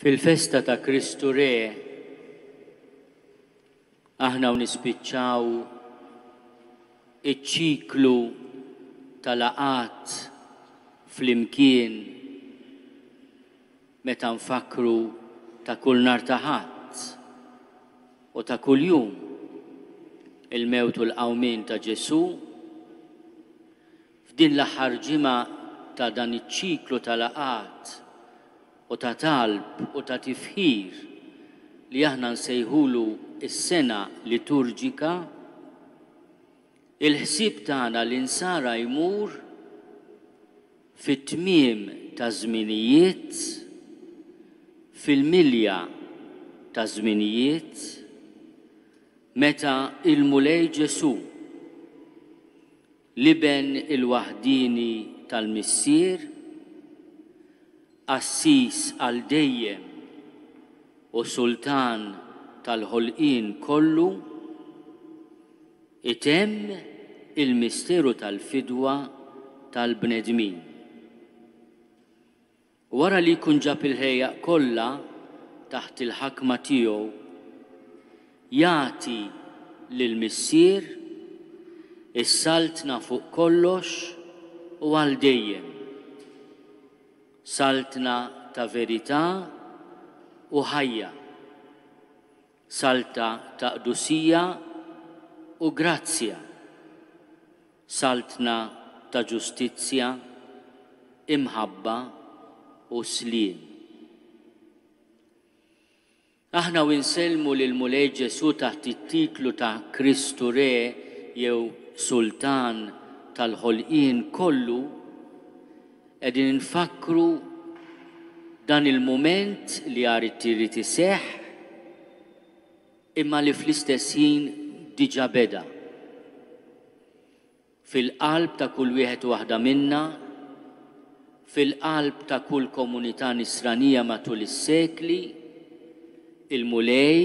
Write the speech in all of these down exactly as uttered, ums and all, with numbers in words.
Fil-festa ta' Kristu Re, aħna u nispiċċaw iċ-ċiklu ta' laqgħat flimkien meta nfakkru ta' kull nhar ta' Ħadd u ta' kuljum il-mewt u l-qawmien ta' Ġesù. F'din l-aħħar ġimgħa ta' dan iċ-ċiklu ta' laqgħat u ta' talb u ta' tifħir li aħna nsejħulu s-sena liturġika, il-ħsieb tagħna l-insara jmur fit-tmiem ta' żminijiet, fil-milja ta' żminijiet, meta il-Mulej Ġesù, l-Iben il-waħdieni tal-Missier, qassis għal dejjem u sultan tal-ħolqien kollu, itemm il-misteru tal-fidwa tal-bnedmin. Wara li jkun ġab il-ħlejjaq kollha taħt il-ħakma tiegħu, jagħti lill-Missier is-saltna fuq kollox u għal dejjem. Saltna ta' verità u ħajja, salta ta' qdusija u grazzja, saltna ta' ġustizzja, imħabba u sliem. Aħna u nsellmu lil Mulej Ġesù taħt it-titlu ta' Kristu Re jew Sultan tal-ħolqien kollu, qegħdin nfakkru dan il-mument li għad irid iseħħ imma li fl-istess ħin diġà beda. Fil-qalb ta' kull wieħed u waħda minna, fil-qalb ta' kull komunità nisranija matul is-sekli, il-Mulej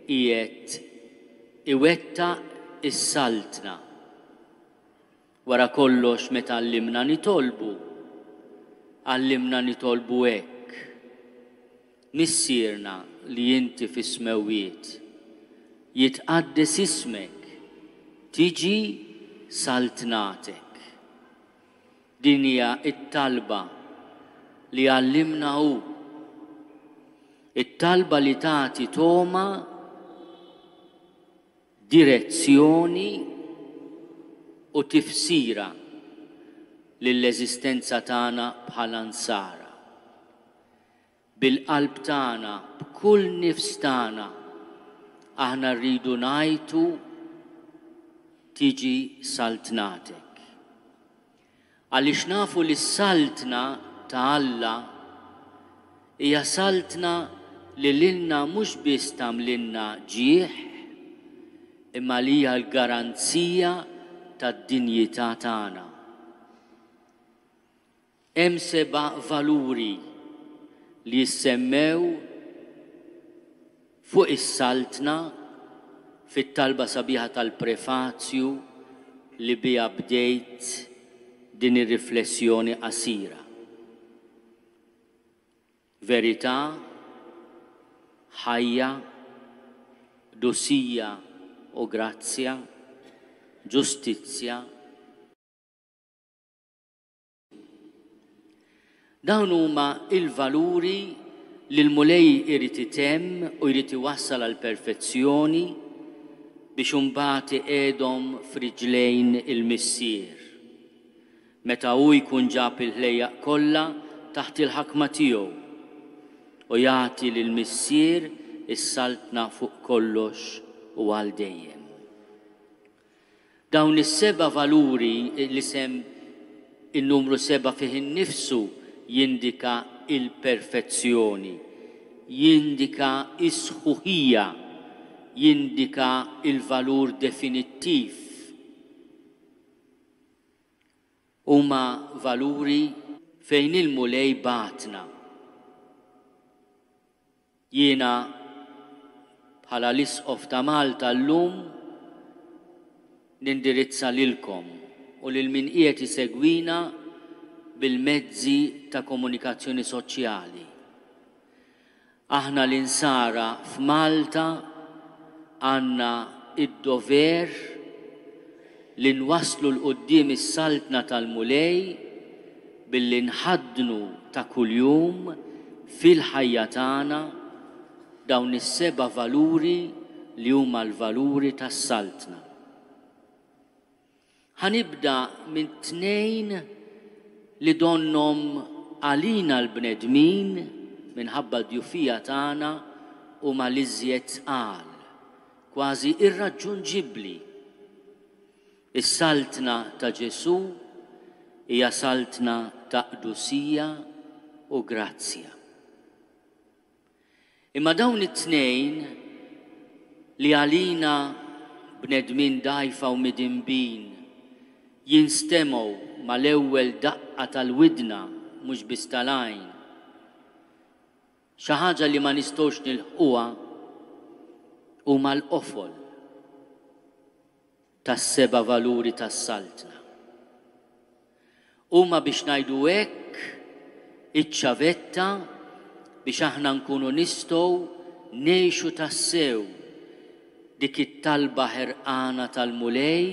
qiegħed iwettaq is-saltna. Wara kollox meta għallimna nitolbu, għallimna nitolbu hekk: Missierna li inti fis-smewwiet, jitqaddes ismek, tiġi saltnatek. Din hija t-talba li għallimna hu, it-talba li tagħti toma, direzzjoni u tifsira lill-eżistenza tagħna bħala nsara. Bil-qalb tagħna, b'kull nifs tagħna, aħna rridu ngħidu tiġi saltnatek. Għaliex nafu li s-saltna ta' Alla hija saltna li lilna mhux biss tagħmlilna ġieħ, imma li hija l-garanzija tad-dinjità tagħna. Hemm seba' valuri li jissemmew fuq is-saltna fit-talba sabiħa tal-prefazju li biha bdejt din ir-riflessjoni qasira. Verità, ħajja, qdusija u grazzja, ġustizzja. Dawn huma il-valuri li l-Mulej irid itemm u jrid iwassal għal perfezzjoni biex imbagħad iqiegħdhom f'riġlejn il-Missier, meta hu jkun ġab il-ħlejjaq kollha taħt il-ħakma tiegħu u jagħti lill-Missier is-saltna fuq kollox u għal dejjem. Dawn is-seba' valuri, l-isem in-numru seba' fih innifsu jindika il-perfezzjoni, jindika is-sħuħija, jindika il-valur definittiv. Huma valuri fejn il-Mulej bagħatna. Jiena bħala l-Isqof ta' Malta llum nindirizza lilkom u lil min qiegħed isegwina bil-mezzi ta' komunikazzjoni soċjali. Aħna l-insara f'Malta għandna id-dover li nwasslu 'l quddiem is-saltna tal-Mulej billi nħaddnu ta' kuljum fil-ħajja tagħna dawn is-seba' valuri li huma l-valuri tas-saltna. Ħa nibda minn tnejn li donnhom għalina l-bnedmin minħabba d-djufija tagħna huma l-iżjed tqal, kważi irraġġunġibbli. Is-saltna ta' Ġesù hija saltna ta' qdusija u grazzja. Imma dawn it-tnejn li għalina bnedmin dgħajfa u midinbin jinstemgħu mal-ewwel daqqa tal-widna mhux biss tal-għajn, xi ħaġa li ma nistgħux nilħquha, huma l-qofol tas-seba' valuri tas-saltna. Huma, biex ngħidu hekk, iċ-ċavetta biex aħna nkunu nistgħu ngħixu tassew dik it-talba ħerqana tal-Mulej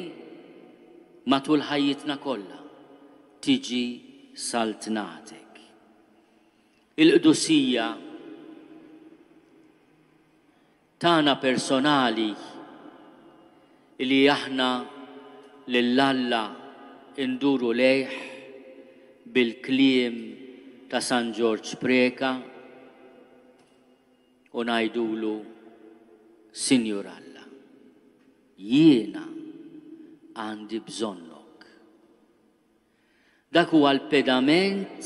matul ħajjitna kollha: tiġi saltnatek. Il-qdusija tagħna personali li aħna lil Alla nduru lejh bil-kliem ta' San Ġorġ Preca u ngħidulu: Sinjur Alla, jiena għandi bżonnok. Dak huwa l-pedament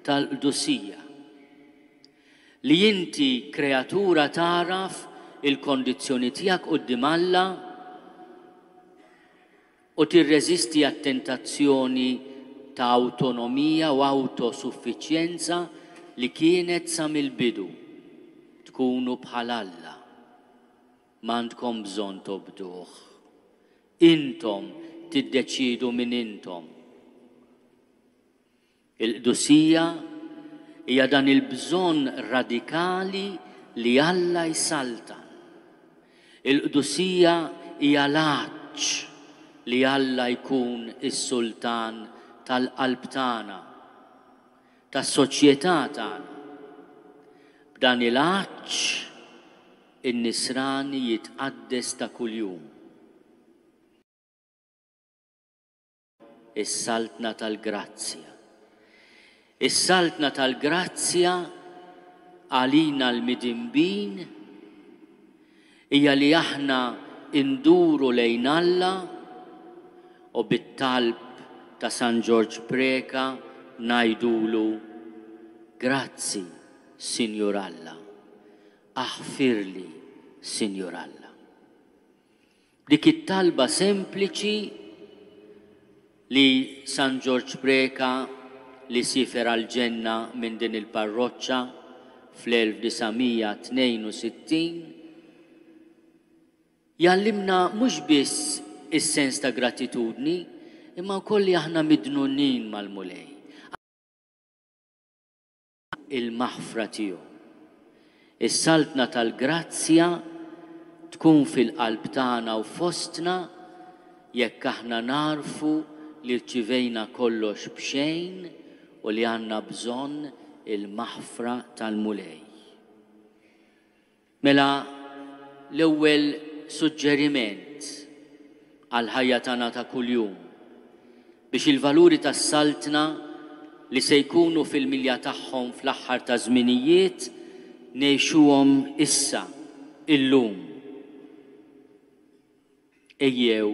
tal-qdusija. Li inti kreatura tagħraf il-kondizzjoni tiegħek quddiem Alla u tirreżisti għat-tentazzjoni ta' awtonomija u awtosuffiċjenza li kienet sa mill-bidu. Tkunu bħal Alla, m'għandkom bżonn tobduh. Intom tiddeċidu min intom. Il-qdusija hija dan il-bżonn radikali li Alla jsaltan. Il-qdusija hija l-għatx li Alla jkun is-sultan tal-qalb tagħna, tas-soċjetà tagħna. B'dan il-għatx in-nisrani jitqaddes ta' kuljum. Is-saltna tal-grazzja. Is-saltna tal-grazzja għalina l-midinbin hija li aħna nduru lejn Alla u bit-talb ta' San Ġorġ Preca ngħidulu: grazzi, Sinjur Alla, aħfirli, Sinjur Alla. Dik it-talba sempliċi li San Ġorġ Preca, li siefer għall-ġenna minn din il-parroċċa fl-elf disa' mija tnejn u sittin, jgħallimna mhux biss is-sens ta' gratitudni, imma wkoll li aħna midnunin mal-Mulej. Il-maħfra tiegħu. Is-saltna tal-grazzja tkun fil-qalb tagħna u fostna jekk aħna narfu li rċivejna kollox b'xejn u li għandna bżonn il-maħfra tal-Mulej. Mela l-ewwel suġġeriment għall-ħajja tagħna ta' kuljum biex il-valuri tas-saltna li se jkunu fil-milja tagħhom fl-aħħar ta' żminijiet ngħixuhom issa, illum. Ejjew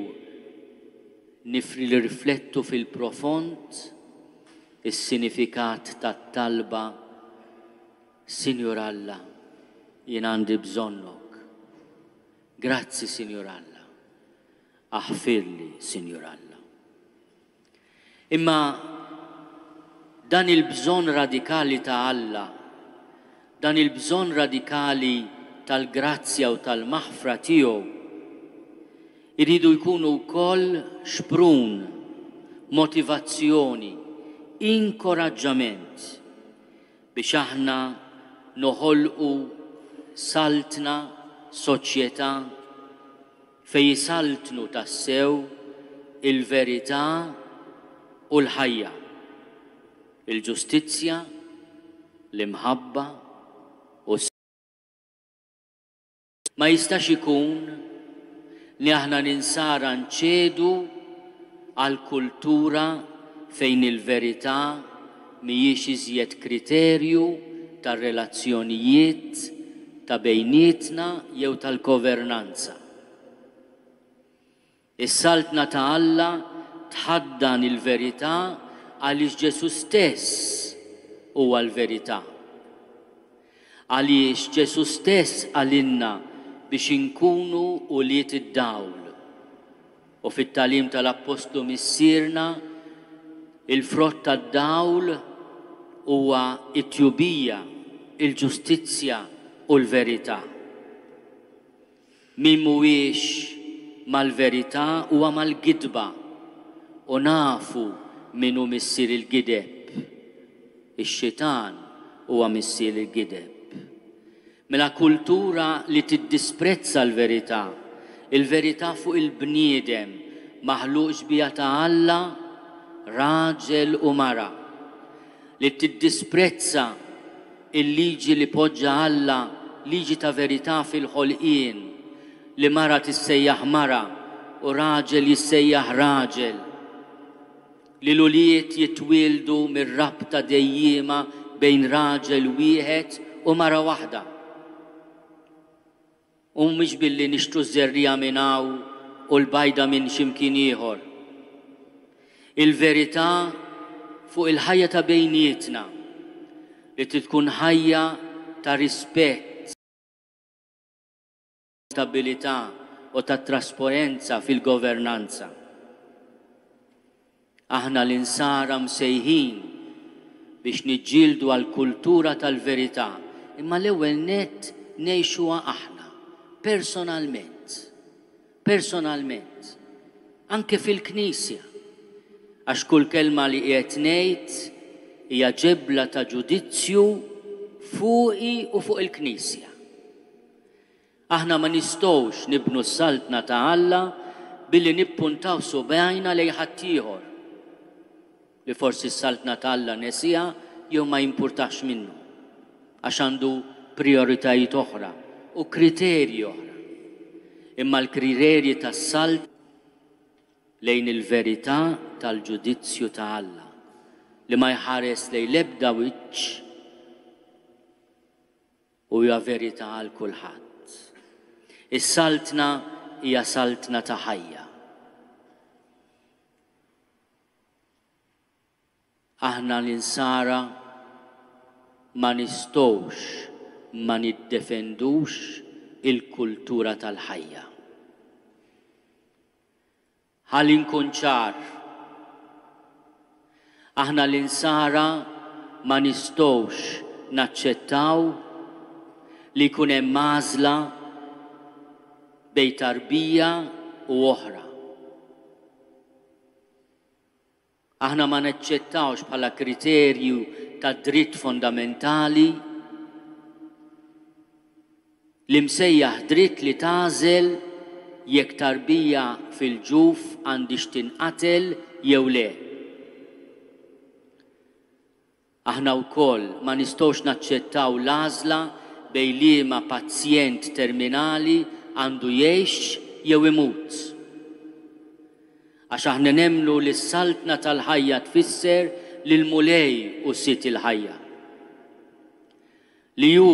nirriflettu fil-profond is-sinifikat tat-talba: Sinjur Alla, jien għandi bżonnok. Grazzi, Sinjur Alla. Aħfirli, Sinjur Alla. Imma dan il-bżonn radikali ta' Alla, dan il-bżonn radikali tal-grazzja u tal-maħfra tiegħu, iridu jkunu wkoll xprun, motivazzjoni, inkoraġġament biex aħna noħolqu saltna, soċjetà fejn jisaltnu tassew il-verità u l-ħajja, il-ġustizzja, l-imħabba u s. Ma jistax ikun li aħna l-insara nċedu għal kultura fejn il-verità mhijiex iżjed kriterju tar-relazzjonijiet ta' bejnietna jew tal-governanza. Is-saltna ta' Alla tħaddan il-verità għaliex Ġesù stess huwa l-verità. Għaliex Ġesù stess qalilna biex inkunu ulied id-dawl. U fit-tagħlim tal-Appostlu Missierna, il-frott tad-dawl huwa t-tjubija, il-ġustizzja u l-verità. Min mhuwiex mal-verità huwa mal-gidba, u nafu min hu missier il-gideb. Ix-xitan huwa missier il-gideb. Mela kultura li tiddisprezza l-verità, il-verità fuq il-bniedem maħluq xbieha ta' Alla, raġel u mara, li tiddisprezza il-liġi li poġġa Alla, liġi ta' verità fil-ħolqien, li mara tissejjaħ mara u raġel jissejjaħ raġel, li l-ulied jitwieldu mir-rabta dejjiema bejn raġel wieħed u mara waħda. U mhux billi nixtru ż-żerriegħa minn hawn u l-bajda minn x'imkien ieħor. Il-verità fuq il-ħajja ta' bejnietna li trid tkun ħajja ta' rispett, stabilità u ta' trasparenza fil-governanza. Aħna l-insara msejħin biex niġġieldu għal-kultura tal-verità, imma l-ewwel nett ngħixuha aħna, personalment, personalment, anke fil-Knisja, għax kull kelma li qiegħed ngħid hija ġebla ta' ġudizzju fuqi u fuq il-Knisja. Aħna ma nistgħux nibnu s-saltna ta' Alla billi nippuntaw subgħajna lejn ħaddieħor li forsi s-saltna ta' Alla nesiha jew ma jimpurtax minnu, għax għandu prioritajiet oħra u kriterji oħra. Imma l-kriterji tas-salt lejn il-verità tal-ġudizzju ta' Alla li ma jħares lejn l-ebda wiċċ u hija verità għal kulħadd. Is-saltna hija saltna ta' ħajja. Aħna l-insara ma nistgħux ma niddefendux il-kultura tal-ħajja. Ħalli nkun ċar, aħna l-insara ma nistgħux naċċettaw li jkun hemm għażla bejn tarbija u oħra. Aħna ma naċċettawx bħala kriterju ta' dritt fondamentali li msejjaħ dritt li tagħżel jekk tarbija fil-ġuf għandix tinqatel jew le. Aħna wkoll ma nistgħux naċċettaw l-għażla bejn liema pazjent terminali għandu jgħix jew imut. Għax aħna nemmnu li s-saltna tal-ħajja tfisser li l-Mulej hu sid il-ħajja. Li hu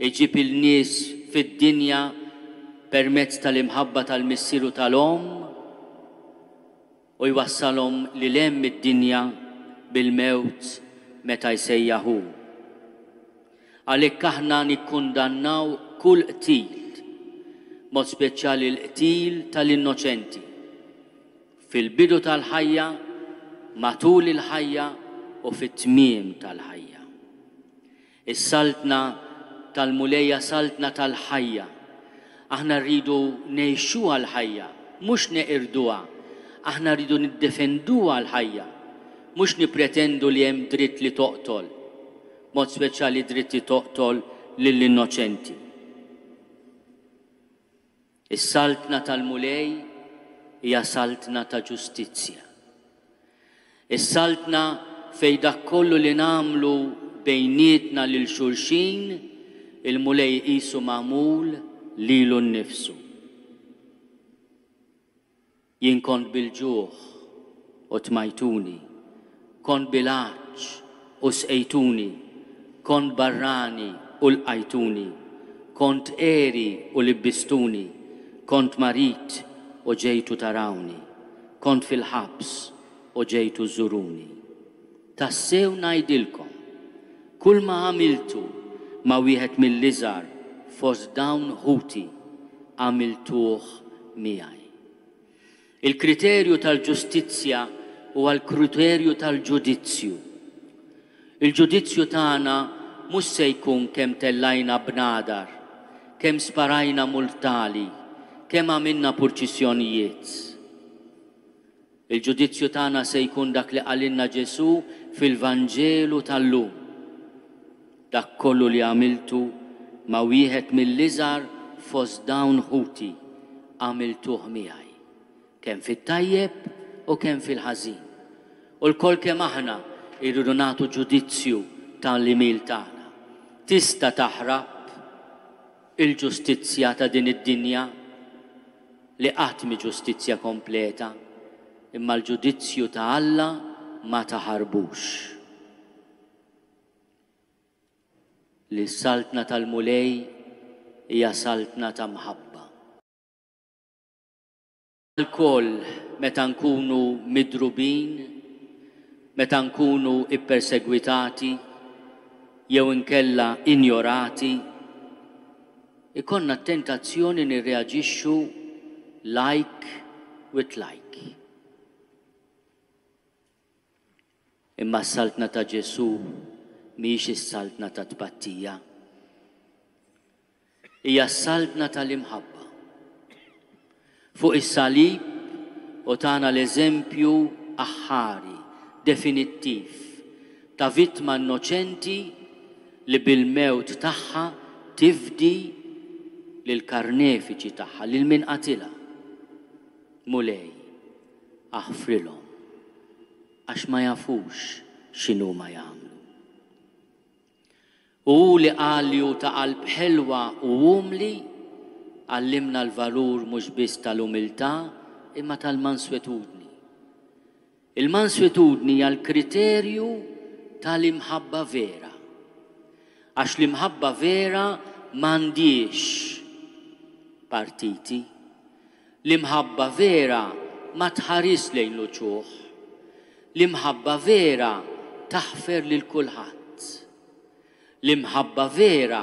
iġib il-nies fid-dinja permezz tal-imħabba tal-missier u tal-omm u jwassalhom lil hemm id-dinja bil-mewt meta jsejjaħ hu. Għalhekk aħna nikkundannaw kull qtil, mod speċjali l-qtil tal-innoċenti, fil-bidu tal-ħajja, matul il-ħajja u fit-tmiem tal-ħajja. Is-saltna tal-Mulejja saltna tal-ħajja. Aħna rridu ngħixuha l-ħajja, mhux neqirduha. Aħna rridu niddefenduha l-ħajja, mhux nipretendu li hemm dritt li toqtol, Mod speċjali dritt li toqtol lill-innoċenti. Is-saltna tal-Mulej hija saltna ta' ġustizzja. Is-saltna fejn dak kollu li nagħmlu bejnietna lil xulxin, il-Mulej qisu magħmul lilu nnifsu. Jien kont bil-ġuħ u tmajtuni, kont bil-għatx u sqejtuni, kont barrani u lqajtuni, kont għeri u libbistuni, kont marid u ġejtu tarawni, kont fil-ħabs u ġejtu żuruni. Tassew ngħidilkom, kull ma għamiltu ma' wieħed mill-iżgħar fost dawn ħuti, għamiltuh miegħi. Il-kriterju tal-ġustizzja huwa l-kriterju tal-ġudizzju. Il-ġudizzju tagħna mhux se jkun kemm tellajna bnadar, kemm sparajna multali, kemm għamilna purċissjonijiet. Il-ġudizzju tagħna se jkun dak li qalilna Ġesù fil-Vanġelu tal-lum. Dak kollu li għamiltu ma' wieħed mill-iżgħar fost dawn ħuti, għamiltuh miegħi, kemm fit-tajjeb u kemm fil-ħażin. U lkoll kemm aħna irridu nagħtu ġudizzju tal-imil tagħna. Tista' taħrab il-ġustizzja ta' din id-dinja li qatt mhi ġustizzja kompleta, imma l-ġudizzju ta' Alla ma taħarbux. Li s-saltna tal-Mulej hija saltna ta' mħabba. Lkoll meta nkunu midrubin, meta nkunu ippersegwitati jew inkella injorati, ikonna tentazzjoni nirreaġixxu like with like. Imma s-saltna ta' Ġesù mhijiex is-saltna ta' tpattija. Hija s-saltna tal-imħabba. Fuq is-salib u tagħna l-eżempju aħħari, definittiv, ta' vittma innoċenti li bil-mewt tagħha tifdi lill-karnefiċi tagħha, lil min qatilha. Mulej, aħfrilhom, għax ma jafux x'inhuma jagħmlu. U hu li qal li hu ta' qalb ħelwa u umli, għallimna l-valur mhux biss tal-umiltà imma tal-manswetudni. Il-manswetudni hija l-kriterju tal-imħabba vera. Għax l-imħabba vera m'għandix partiti. L-imħabba vera ma tħares lejn l-uċuħ. L-imħabba vera taħfer lil kulħadd. L-imħabba vera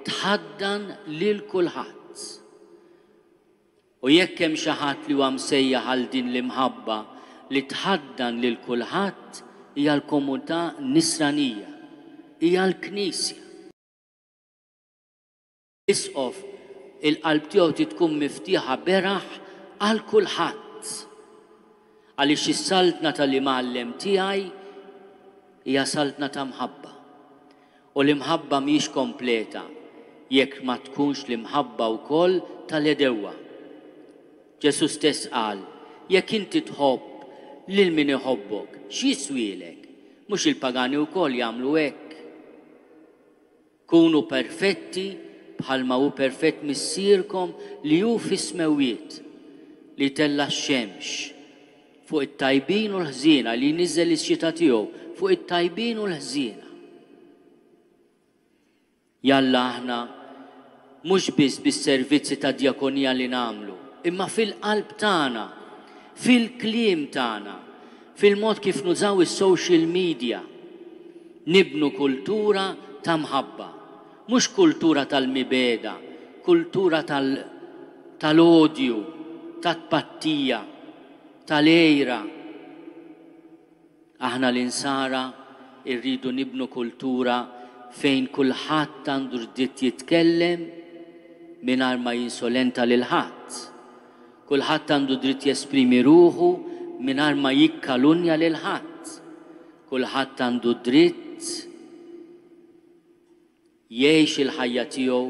tħaddan lil kulħadd. U jekk hemm xi ħadd li huwa msejjaħ għal din l-imħabba li tħaddan lil kulħadd, hija l-komunità nisranija, hija l-Knisja. Isqof il-qalb tiegħu trid tkun miftiħa beraħ għal kulħadd. Għaliex is-saltna tal-imgħallem tiegħi hija saltna ta' mħabba. U l-imħabba mhijiex kompleta jekk ma tkunx l-imħabba wkoll tal-għedewwa. Ġesù stess qal, jekk inti tħobb lil min iħobbok, x'jiswielek? Mhux il-pagani wkoll jagħmlu hekk. Kunu perfetti bħalma hu perfett missierkom li hu fis-smewwiet, li tella' x-xemx fuq it-tajbin u l-ħżiena, li jniżżel ix-xita tiegħu fuq it-tajbin u l-ħżiena. Jalla aħna mhux biss bis-servizzi ta' djakonija li nagħmlu, imma fil-qalb tagħna, fil-kliem tagħna, fil-mod kif nużaw is-social media, nibnu kultura ta' mħabba, mhux kultura tal-mibeda, kultura tal-, tal-odju, tat-tpattija, tal-għejra. Aħna l-insara rridu nibnu kultura fejn kulħadd għandu dritt jitkellem mingħajr ma jinsolenta lil ħadd. Kulħadd għandu dritt jesprimi ruħu mingħajr ma jikkalunja lil ħadd. Kulħadd għandu dritt Jgħix il-ħajja tiegħu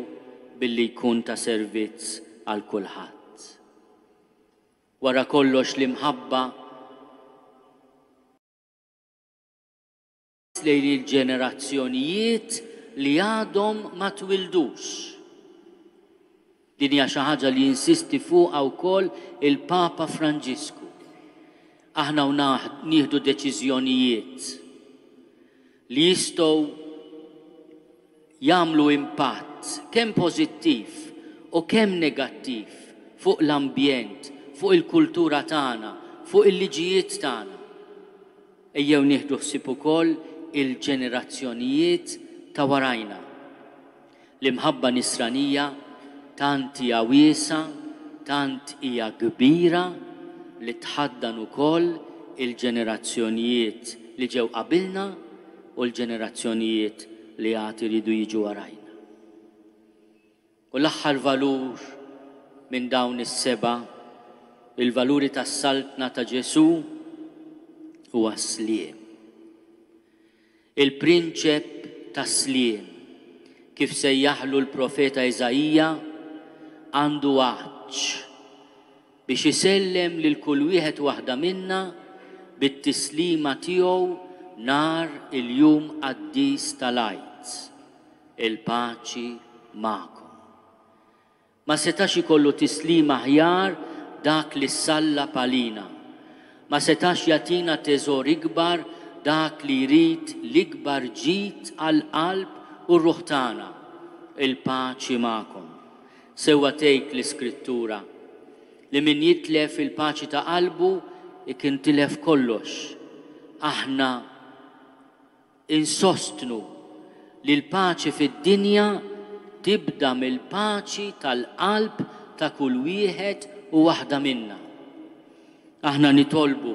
billi jkun ta' servizz għal kulħadd. Wara kollox l-imħabba lejn il-ġenerazzjonijiet li għadhom ma twildux. Din hija xi ħaġa li jinsisti fuqha wkoll il-Papa Franġisku. Aħna u nieħdu deċiżjonijiet li jistgħu jagħmlu impatt kemm pożittiv u kemm negattiv fuq l-ambjent, fuq il-kultura tagħna, fuq il-liġijiet tagħna. Ejjew nieħdu ħsieb ukoll il-ġenerazzjonijiet ta' warajna. L-imħabba nisranija tant hija wiesgħa, tant hija kbira li tħaddan ukoll il-ġenerazzjonijiet li ġew qabilna u l-ġenerazzjonijiet li għad iridu jiġu warajna. U l-aħħar valur minn dawn is-seba', il-valuri tas-saltna ta' Ġesù, huwa s-sliem. Il-prinċep tas-sliem, kif sejjaħlu l-profeta Iżaija, għandu għatx biex isellem lil kull wieħed waħda minna bit-tislima tiegħu nhar il-jum qaddis tal-Għid. Il-paċi magħkom. Ma setax ikollu tislima aħjar dak li sallab għalina. Ma setax jagħtina teżor ikbar dak li jrid l-ikbar ġid għall-qalb u r-ruħ tagħna. Il-paċi magħkom. Sewwa tgħid l-Iskrittura li min jitlef il-paċi ta' qalbu ikun tilef kollox. Aħna insostnu li l-paċi fid-dinja tibda mill-paċi tal-qalb ta' kull wieħed u waħda minna. Aħna nitolbu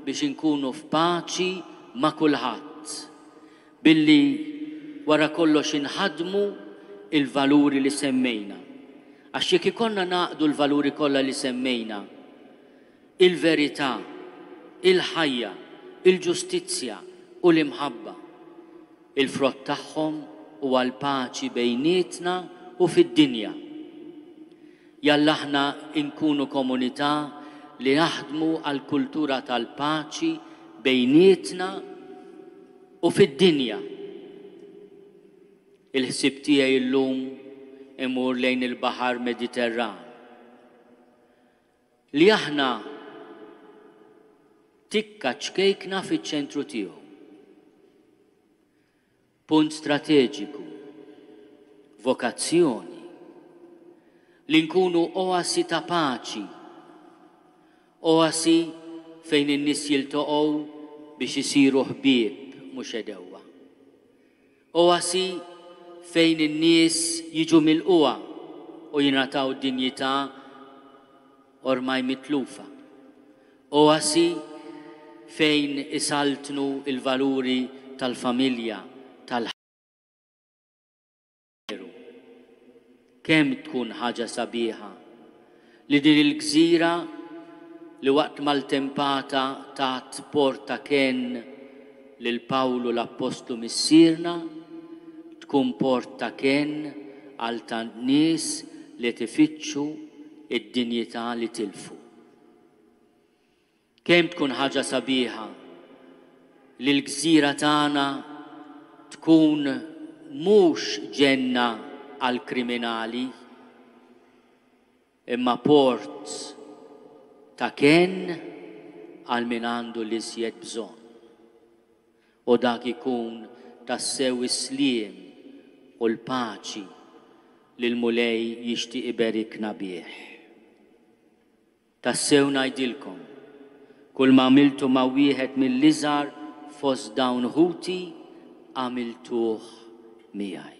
biex inkunu f'paċi ma' kulħadd, billi wara kollox inħadmu il-valuri li semmejna. Għax jekk ikollna naqdu l-valuri kollha li semmejna, il-verità, il-ħajja, il-ġustizzja u l-imħabba, il-frott tagħhom huwa l-paċi bejnietna u fid-dinja. Jalla aħna nkunu komunità li naħdmu għal kultura tal-paċi bejnietna u fid-dinja. Il-ħsieb tiegħi llum imur lejn il-Baħar Mediterran. Li aħna tikka ċkejkna fiċ-ċentru tiegħu. Punt strateġiku, vokazzjoni, li nkunu oasi ta' paċi, oasi fejn in-nies jiltaqgħu biex isiru ħbieb mhux għedewwa. Oasi fejn in-nies jiġu milquha u jingħataw dinjità ormai mitlufa. Oasi fejn isaltnu il-valuri tal-familja, tal-ħajja. Kemm tkun ħaġa sabiħa li din il-gżira li waqt maltempata tat porta kenn lil Pawlu l-Appostlu missierna tkun porta kenn għal tant nies li tifittxu id-dinjità li tilfu. Kemm tkun ħaġa sabiħa li l-gżira tagħna tkun mhux ġenna għal kriminali, imma port ta' kenn għal min għandu l-iżjed bżonn. U dak ikun tassew is-sliem u l-paċi li l-Mulej jixtieq iberikna bih. Tassew ngħidilkom, kull ma għamiltu ma' wieħed mill-iżgħar fost dawn ħuti, għamiltuh miegħi.